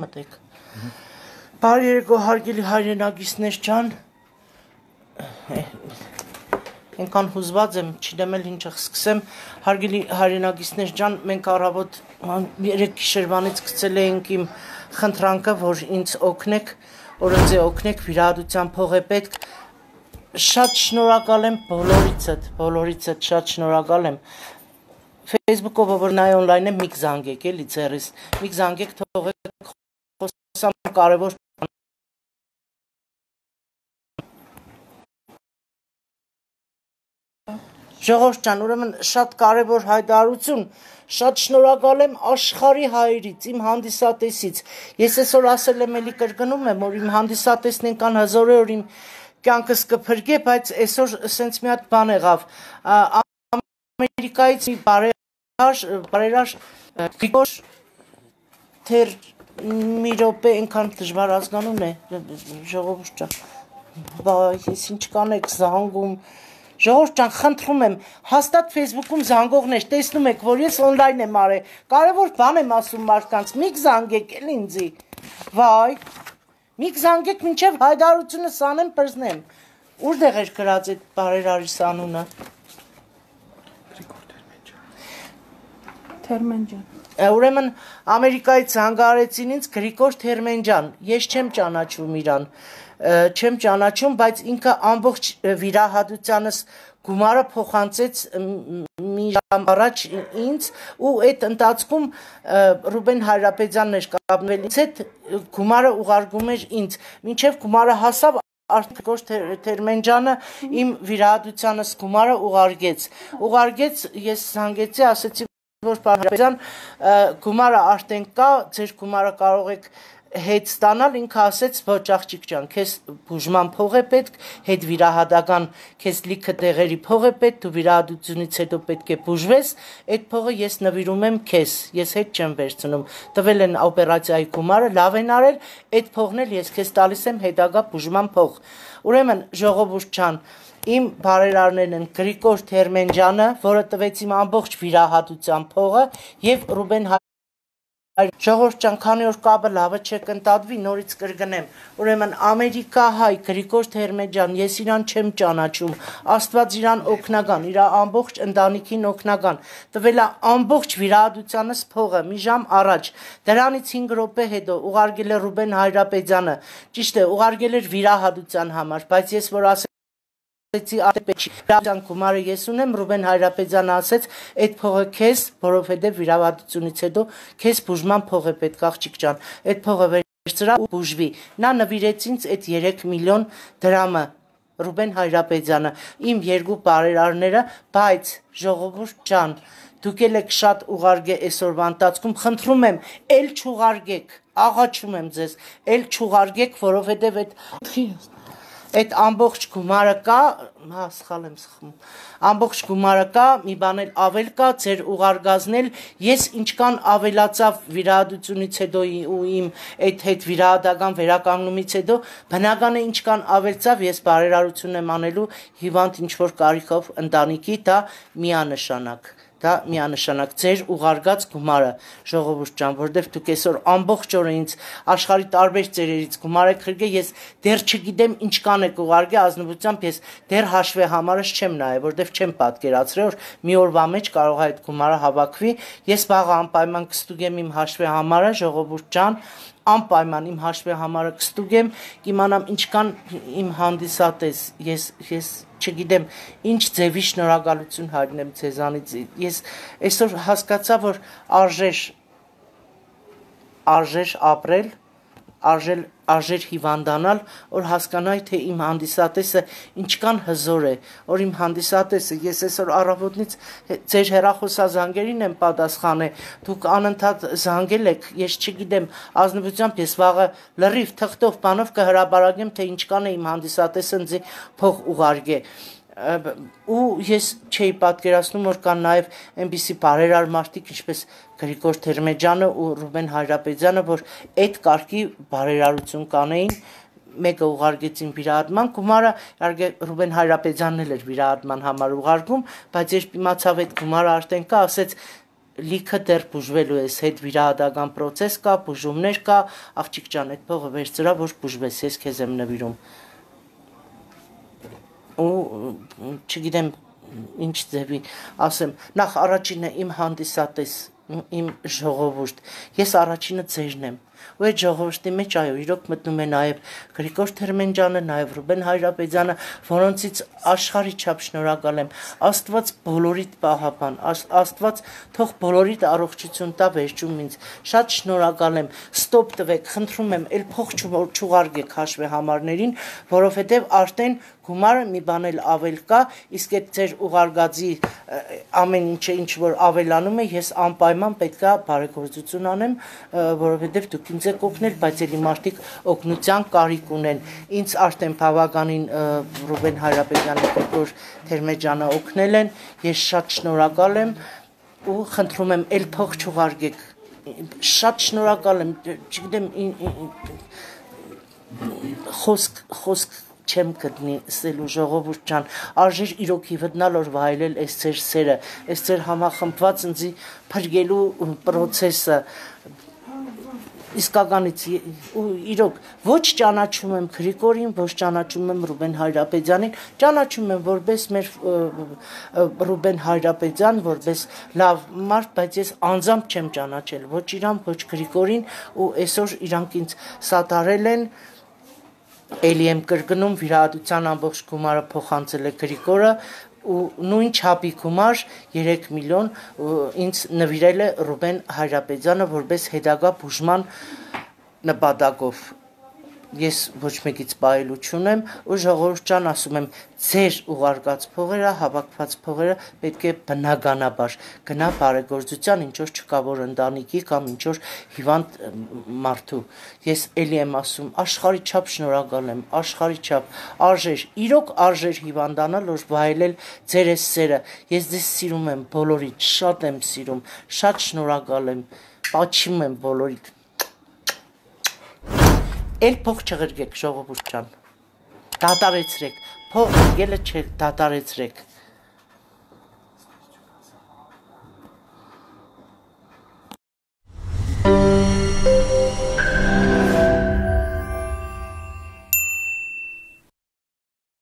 մտեք։ Բարի երեկո հարգելի հայրենագիստներ ջան։ Ենքան հուզված եմ, չգիտեմ էլ ինչ սկսեմ, հարգելի հայրենագիստներ ջան, մենք առավոտ 3 գիշերվանից գցել էինք իմ խնդրանքը, որ ինձ օգնեք, որ ինձ օգնեք, վիրահատության փող է պետք։ Շատ շնորհակալ եմ բոլորիցդ շատ շնորհակալ եմ։ Facebook-ով որ նայ on-line եմ, մի զանգեք էլի ձեռիս, մի զանգեք թողեք խոսամ կարևոր Ժողովուրդ ջան, ուրեմն շատ կարևոր հայտարարություն, շատ շնորհակալ եմ աշխարհի հայերից, իմ հանդիսատեսից։ Ես այսօր ասել եմ, էլի կրկնում եմ, որ իմ հանդիսատեսն ինքան հզոր է, որ իմ կյանքս կփրկե, բայց այսօր սենց մի հատ բան եղավ։ Ամերիկայից մի բարերար Գրիգոր թեր մի րոպե այնքան դժվար ազգանուն է, ժողովուրդ ջան, ես ինչ կանեք զանգում, ժողովուրդ ջան, խնդրում եմ, հաստատ Facebook-ում զանգողներ, տեսնում եք, որ ես on-line եմ արել, կարևոր բան եմ ասում մարդկանց, մի զանգեք էլ ինձի, վայ, մի զանգեք մինչև հայտարարությունը սանեմ պրզնեմ, ուր էր գրած այդ բարերարիս անունը։ Թերմենջան։ Ուրեմն Ամերիկայից զանգարեցին ինձ Գրիգոր Թերմենջան, ես չեմ ճանաչում իրան, չեմ ճանաչում, բայց ինքը ամբողջ վիրահատությանս գումարը փոխանցեց մի ժամ առաջ ինձ ու այդ ընթացքում Ռուբեն Հայրապետյանն էր կապնվելից հետ գումարը ուղարկում էր ինձ, մինչև գումարը հասավ Գրիգոր Թերմենջանը իմ վիրահատությանս գումարը ուղարկեց, ես զանգեցի, ասեցի որ Հայրապետյան գումարը արդեն կա, ձեր գումարը կարող եք հետ ստանալ, ինքը ասեց ոչ աղջիկ ջան, քեզ բուժման փող է պետք, հետ վիրահատական քեզ լիքը տեղերի փող է պետք, դու վիրահատությունից հետո պետք է բուժվես, այդ փողը ես նվիրում եմ քեզ, ես հետ չեմ վերցնում, տվել են օպերացիայի գումարը, լավ են արել, այդ փողն էլ ես քեզ տալիս եմ հետագա բուժման փող։ Ուրեմն ժողովուրդ ջան, իմ բարերարներն են Գրիգոր Թերմենջանը, որը տվեց իմ ամբողջ վիրահատության փողը եւ Ռուբեն Ժողովուրդ ջան, քանի որ կապը լավը չկընտադվի, նորից կրկնեմ։ Ուրեմն Ամերիկահայ Գրիգոր Թերմենջան, ես իրան չեմ ճանաչում, Աստված իրան օգնական, իր ամբողջ ընտանիքին օգնական, տվել է ամբողջ վիրահատությանս փողը մի ժամ առաջ, դրանից 5 րոպե հետո ուղարկել է Ռուբեն Հայրապետյանը, ճիշտ է, ուղարկել էր վիրահատության համար, բայց ես որ Վիրահատության գումարը ես ունեմ, Ռուբեն Հայրապետյանը ասեց, այդ փողը քեզ, որովհետև վիրահատությունից հետո քեզ բուժման փող է պետք, աղջիկ ջան, այդ փողը վերցրա ու բուժվի։ Նա նվիրեց ինձ այդ 3 միլիոն դրամը, Ռուբեն Հայրապետյանը, իմ երկու բարերարները, բայց ժողովուրդ ջան, դուք եք շատ ուղարկե այսօրվա ընթացքում, խնդրում եմ, էլ չուղարկեք, աղաչում եմ ձեզ, էլ չուղարկեք, որովհետև այդ ամբողջ գումարը կա, սխալ եմ սխում, ամբողջ գումարը կա, մի բան էլ ավել կա, ձեր ուղարկազնել, ես ինչքան ավելացավ վիրահատությունից հետո ու իմ այդ հետ վիրահատական վերականգնումից հետո, բնական է ինչքան ավելցավ, ես բարերարություն եմ անելու հիվանդ ինչ-որ կարիքով ընտանիքի, դա միանշանակ ձեր ուղարկած գումարը, ժողովուրդ ջան, որտեվ դուք այսօր ամբողջ օրը ինձ աշխարհի տարբեր ծերերից գումար եք խրգել, ես դեռ չգիտեմ ինչքան եք ուղարկել, ազնվությամբ ես դեռ հաշվի համարս չեմ նայել, որտեվ չեմ պատկերացրել, որ մի օրվա մեջ կարող է այդ գումարը հավաքվի, ես վաղը անպայման կստուգեմ իմ հաշվի համարը, ժողովուրդ ջան, անպայման իմ հաշվի համարը կստուգեմ, կիմանամ ինչքան իմ հանդիսատես, ես չգիտեմ ինչ ձևի շնորհակալություն հայտնեմ ձեզանից, ես այսօր հասկացա, որ արժեր ապրել, արժեր հիվանդանալ, որ հասկանայի, թե իմ հանդիսատեսը ինչքան հզոր է, որ իմ հանդիսատեսը, ես այսօր առավոտնից ձեր հեռախոսազանգերին եմ պատասխանել, դուք անընդհատ զանգել եք, ես չգիտեմ, ազնվությամբ ես վաղը լրիվ թղթով բանով կհրապարակեմ, թե ինչքան է իմ հանդիսատեսը ինձ փող ուղարկե, ու ես չէի պատկերացնում, որ կան նաև այնպիսի բարերար մարդիկ, ինչպես Գրիգոր Թերմենջանը ու Ռուբեն Հայրապետյանը, որ այդ կարգի բարերարություն կանեին, մեկը ուղարկեցին վիրահատման գումարը, իհարկե Ռուբեն Հայրապետյանն էլ էր վիրահատման համար ուղարկում, բայց երբ իմացավ այդ գումարը արդեն կա, ասեց լիքը դեռ բուժվելու ես, հետ վիրահատական պրոցես կա, բուժումներ կա, աղջիկ ջան, այդ փողը վերցրա, որ բուժվես, ես քեզ եմ նվիրում։ Ու չգիտեմ ինչ ձևի ասեմ, նախ առաջինը իմ հանդիսատես, իմ ժողովուրդ, ես առաջինը ձերն եմ, ու այդ ժողովրդի մեջ այո, իրոք մտնում է նաև Գրիգոր Թերմենջյանը, նաև Ռուբեն Հայրապետյանը, որոնցից աշխարհի չափ շնորհակալ եմ, Աստված բոլորիդ պահապան, Աստված թող բոլորիդ առողջություն տա վերջում ինձ, շատ շնորհակալ եմ, ստոպ տվեք, խնդրում եմ, էլ փող չուղարկեք հաշվի համարներին, որովհետև արդեն գումարը մի բան էլ ավել կա, իսկ այդ ձեր ուղարկածի ամեն ինչը ինչ որ ավելանում է, ես անպայման պետքա բարեգործություն անեմ, որովհետև դուք ինձ եք օգնել, բայց էլի մարդիկ օգնության կարիք ունեն։ Ինձ արդեն բավականին Ռուբեն Հայրապետյանը, Գրիգոր Թերմենջյանը օգնել են, ես շատ շնորհակալ եմ ու խնդրում եմ, էլ փող չուղարկեք։ Շատ շնորհակալ եմ, չգիտեմ խոսք չեմ գտնի ասելու ժողովուրդ ջան, արժեր իրոքի վտնալ որ վայելել այս ձեր սերը, այս ձեր համախմբված ինձի փրկելու պրոցեսը, իսկականից ու իրոք ոչ ճանաչում եմ Գրիգորին, ոչ ճանաչում եմ Ռուբեն Հայրապետյանին, ճանաչում եմ որպես մեր Ռուբեն Հայրապետյան, որպես լավ մարդ, բայց ես անձամբ չեմ ճանաչել ոչ իրան, ոչ Գրիգորին ու այսօր իրանք ինձ սատարել են Էլի եմ կրկնում վիրահատության ամբողջ գումարը փոխանցել է Գրիգորը ու նույն չափի գումար 3 միլիոն ինձ նվիրել է Ռուբեն Հայրապետյանը որպես հետագա բուժման նպատակով ես ոչ մեկից պահելու չունեմ ու ժողովուրդ ջան ասում եմ ձեր ուղարկած փողերը հավաքված փողերը պետք է բնականաբար գնա բարեգործության ինչ որ չկա որ ընտանիքի կամ ինչ որ հիվանդ մարդու ես էլի եմ ասում աշխարհի չափ շնորհակալ եմ աշխարհի չափ արժեր իրոք արժեր հիվանդանալ որ վայելել ձեր այս սերը ես ձեզ սիրում եմ բոլորիդ շատ եմ սիրում շատ շնորհակալ եմ պաչում եմ բոլորիդ Էլ փող չղրգեք ժողովուրդ ջան դատարեցրեք փող ելը չէ դատարեցրեք